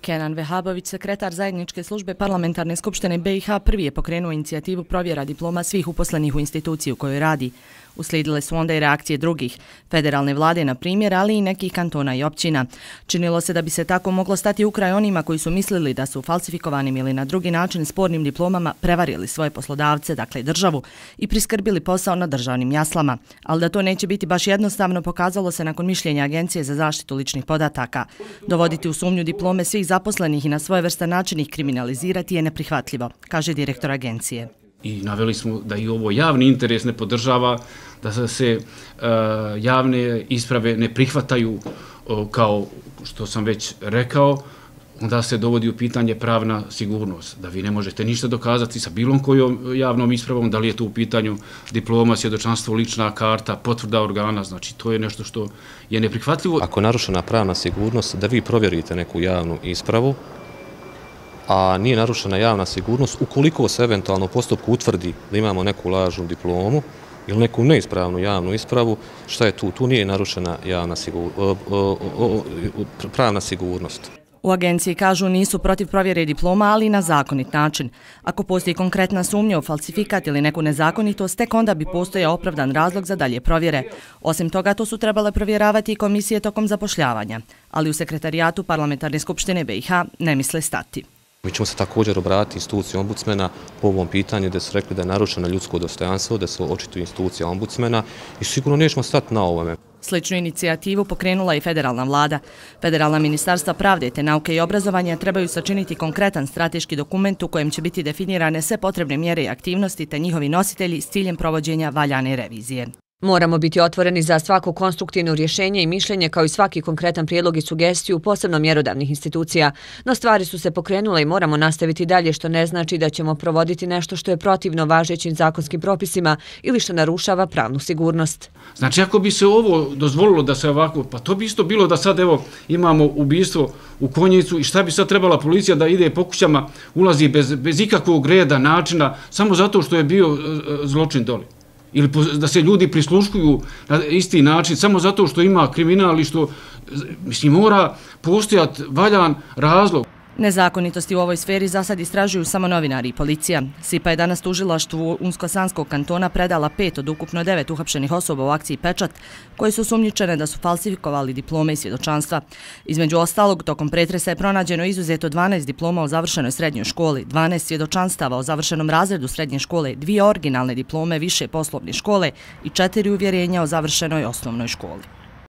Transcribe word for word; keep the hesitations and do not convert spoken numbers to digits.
Kenan Vehabović, sekretar zajedničke službe Parlamentarne skupštine B i H, prvi je pokrenuo inicijativu provjera diploma svih uposlenih u instituciji u kojoj radi. Uslijedile su onda i reakcije drugih, federalne vlade na primjer, ali i nekih kantona i općina. Činilo se da bi se tako moglo stati u kraj onima koji su mislili da su falsifikovanim ili na drugi način spornim diplomama prevarili svoje poslodavce, dakle državu, i priskrbili posao na državnim jaslama. Ali da to neće biti baš jednostavno pokazalo se nakon mišljenja Agencije za zaštitu ličnih podataka. Dovoditi u sumnju diplome svih zaposlenih i na svojevrstan način ih kriminalizirati je neprihvatljivo, kaže direktor agencije. I naveli smo da i ovo javni interes ne podržava, da se uh, javne isprave ne prihvataju uh, kao što sam već rekao, onda se dovodi u pitanje pravna sigurnost, da vi ne možete ništa dokazati sa bilom kojom javnom ispravom, da li je to u pitanju diploma, svjedočanstvo, lična karta, potvrda organa, znači to je nešto što je neprihvatljivo. Ako je narušena pravna sigurnost, da vi provjerite neku javnu ispravu, a nije narušena javna sigurnost, ukoliko se eventualno u postupku utvrdi da imamo neku lažnu diplomu ili neku neispravnu javnu ispravu, šta je tu? Tu nije narušena javna sigur, pravna sigurnost. U agenciji kažu nisu protiv provjere diploma, ali na zakonit način. Ako postoji konkretna sumnja u falsifikat ili neku nezakonitost, tek onda bi postojao opravdan razlog za dalje provjere. Osim toga, to su trebale provjeravati i komisije tokom zapošljavanja, ali u sekretarijatu Parlamentarne skupštine B i H ne misle stati. Mi ćemo se također obratiti instituciji ombudsmena po ovom pitanju gdje su rekli da je narušeno ljudsko dostojanstvo, da se očituje institucija ombudsmena i sigurno nećemo stati na ovome. Sličnu inicijativu pokrenula i federalna vlada. Federalna ministarstva pravde te nauke i obrazovanja trebaju sačiniti konkretan strateški dokument u kojem će biti definirane sve potrebne mjere i aktivnosti te njihovi nositelji s ciljem provođenja valjane revizije. Moramo biti otvoreni za svako konstruktivno rješenje i mišljenje kao i svaki konkretan prijedlog i sugestiju, posebno mjerodavnih institucija. No stvari su se pokrenule i moramo nastaviti dalje, što ne znači da ćemo provoditi nešto što je protivno važećim zakonskim propisima ili što narušava pravnu sigurnost. Znači ako bi se ovo dozvolilo da se ovako, pa to bi isto bilo da sad evo imamo ubistvo u Konjicu i šta bi sad trebala policija da ide po kućama, ulazi bez, bez ikakvog reda, načina, samo zato što je bio zločin doli. Ili da se ljudi prisluškuju na isti način samo zato što ima kriminal i što, mislim, mora postojati valjan razlog. Nezakonitosti u ovoj sferi za sad istražuju samo novinari i policija. SIPA je danas tužilaštvu Unsko-Sanskog kantona predala pet od ukupno devet uhapšenih osoba u akciji Pečat, koje su sumnjičene da su falsifikovali diplome i svjedočanstva. Između ostalog, tokom pretresa je pronađeno izuzeto dvanaest diploma o završenoj srednjoj školi, dvanaest svjedočanstava o završenom razredu srednje škole, dvije originalne diplome više poslovne škole i četiri uvjerenja o završenoj osnovnoj školi.